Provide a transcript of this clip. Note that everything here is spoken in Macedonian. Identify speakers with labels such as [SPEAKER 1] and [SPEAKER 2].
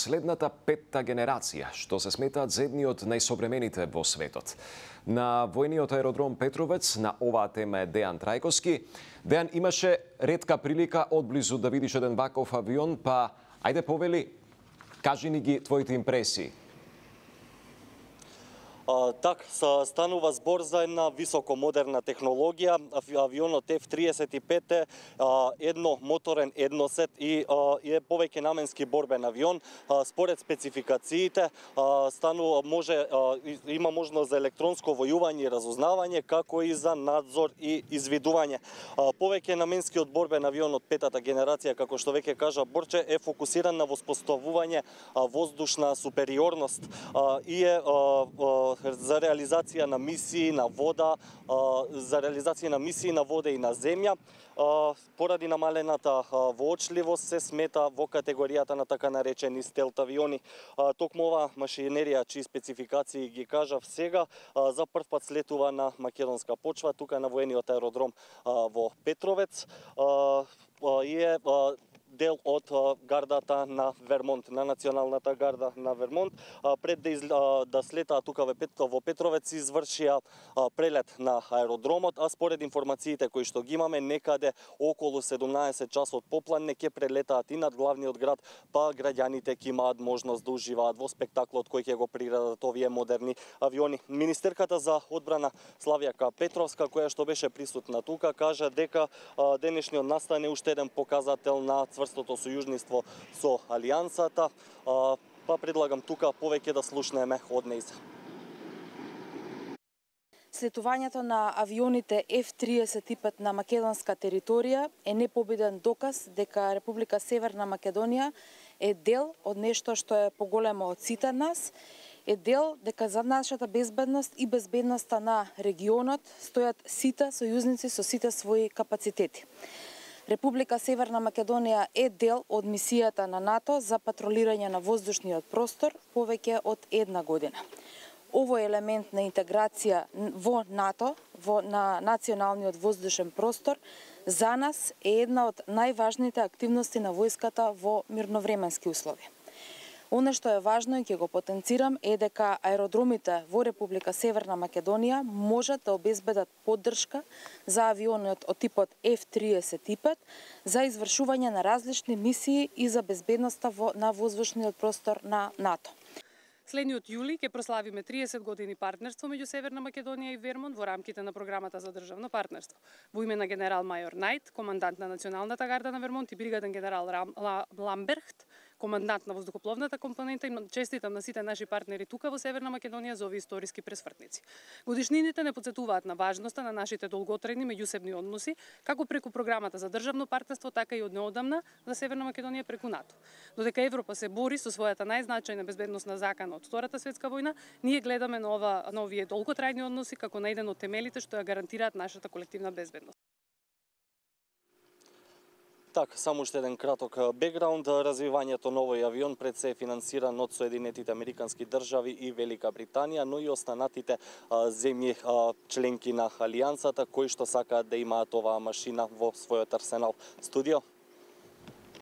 [SPEAKER 1] следната петта генерација, што се сметаат за едни од најсовремените во светот. На војниот аеродром Петровец на оваа тема е Дејан Трајковски. Дејан, имаше ретка прилика одблизу да видиш еден ваков авион, па ајде повели, кажи ни ги твоите импресии.
[SPEAKER 2] Так, станува збор за една високо модерна технологија. Авионот F-35 е едномоторен едносет и е повеќе наменски борбен авион. Според спецификациите има можност за електронско војување и разузнавање, како и за надзор и извидување. Повеќе наменскиот борбен авион од петата генерација, како што веќе кажа Борче, е фокусиран на воспоставување воздушна супериорност и е за реализација на мисии на вода, и на земја. Поради намалената воочливост се смета во категоријата на така наречени стелт авиони. Токму ова машинерија, чии спецификации ги кажав сега, за прв пат слетува на македонска почва, тука на воениот аеродром во Петровец и е дел од гардата на Вермонт, на националната гарда на Вермонт. Пред да слетаа тука во Петровец, извршија прелет на аеродромот, а според информациите кои што ги имаме, некаде околу 17 часот попладне ќе прелетаат и над главниот град, па граѓаните ќе имаат можност да уживаат во спектаклот кој ќе го приредат овие модерни авиони. Министерката за одбрана Славјака Петровска, која што беше присутна тука, кажа дека денешниот настан е уште еден показател на цврстото сојужниство со Алијансата, па предлагам тука повеќе да слушнеме од нејза.
[SPEAKER 3] Слетувањето на авионите F-35 на македонска територија е непобеден доказ дека Република Северна Македонија е дел од нешто што е поголемо од сите нас, е дел дека за нашата безбедност и безбедноста на регионот стојат сите сојузници со сите своји капацитети. Република Северна Македонија е дел од мисијата на НАТО за патролирање на воздушниот простор повеќе од една година. Овој елемент на интеграција во НАТО, на националниот воздушен простор, за нас е една од најважните активности на војската во мирновременски услови. Оно што е важно и ќе го потенцирам е дека аеродромите во Република Северна Македонија можат да обезбедат поддршка за авионот од типот F-35 за извршување на различни мисии и за безбедноста на воздушниот простор на НАТО.
[SPEAKER 4] Следниот јули ќе прославиме 30 години партнерство меѓу Северна Македонија и Вермонт во рамките на програмата за државно партнерство. Во име на генерал мајор Најт, командант на Националната гарда на Вермонт, и бригаден генерал Ламберхт, командант на воздухопловната компонента, и честитам на сите наши партнери тука во Северна Македонија за овие историски пресвртници. Годишнините не потсетуваат на важноста на нашите долготрајни меѓусебни односи, како преку програмата за државно партнерство, така и од неодамна за Северна Македонија преку НАТО. Додека Европа се бори со својата најзначајна безбедносна закана од Втората светска војна, ние гледаме на овие долготрајни односи како на еден од темелите што ја гарантираат нашата колективна безбедност.
[SPEAKER 2] Так, само уште еден краток бекграунд. Развивањето на овој авион пред се е финансиран од Соединетите Американски држави и Велика Британија, но и останатите земји членки на Алијансата, кои што сакаат да имаат оваа машина во својот арсенал. Студио.